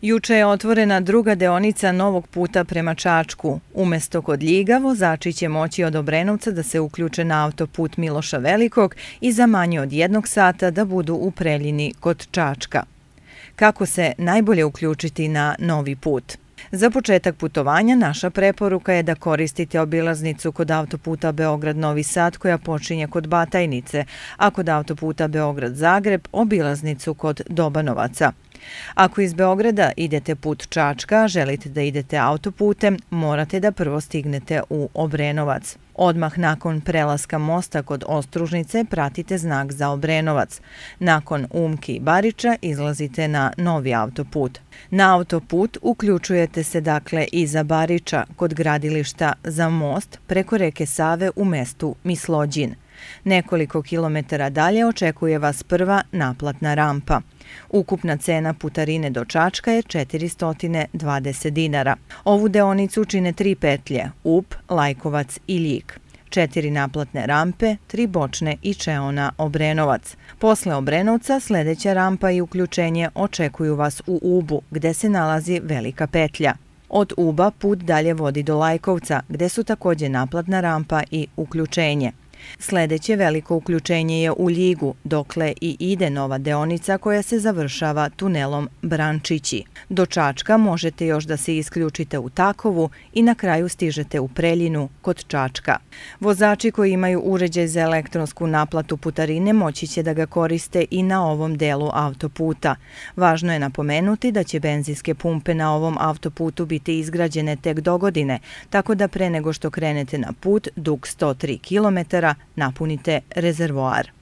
Juče je otvorena druga deonica novog puta prema Čačku. Umesto kod Ljiga, vozači će moći od Obrenovca da se uključe na autoput Miloša Velikog i za manje od 1 sata da budu u Preljini kod Čačka. Kako se najbolje uključiti na novi put? Za početak putovanja naša preporuka je da koristite obilaznicu kod autoputa Beograd-Novi Sad koja počinje kod Batajnice, a kod autoputa Beograd-Zagreb obilaznicu kod Dobanovaca. Ako iz Beograda idete put Čačka, želite da idete autoputem, morate da prvo stignete u Obrenovac. Odmah nakon prelaska mosta kod Ostružnice pratite znak za Obrenovac. Nakon Umki i Bariča izlazite na novi autoput. Na autoput uključujete se dakle iza Bariča kod gradilišta za most preko reke Save u mestu Mislođin. Nekoliko kilometara dalje očekuje vas prva naplatna rampa. Ukupna cena putarine do Čačka je 420 dinara. Ovu deonicu čine 3 petlje, Up, Lajkovac i Ljig. 4 naplatne rampe, 3 bočne i čeona Obrenovac. Posle Obrenovca sljedeća rampa i uključenje očekuju vas u Ubu, gde se nalazi velika petlja. Od Uba put dalje vodi do Lajkovca, gde su također naplatna rampa i uključenje. Sljedeće veliko uključenje je u Ljigu, dokle i ide nova deonica koja se završava tunelom Brančići. Do Čačka možete još da se isključite u Takovu i na kraju stižete u Preljinu kod Čačka. Vozači koji imaju uređaj za elektronsku naplatu putarine moći će da ga koriste i na ovom delu autoputa. Važno je napomenuti da će benzinske pumpe na ovom autoputu biti izgrađene tek dogodine, tako da pre nego što krenete na put dug 103 km napunite rezervoar.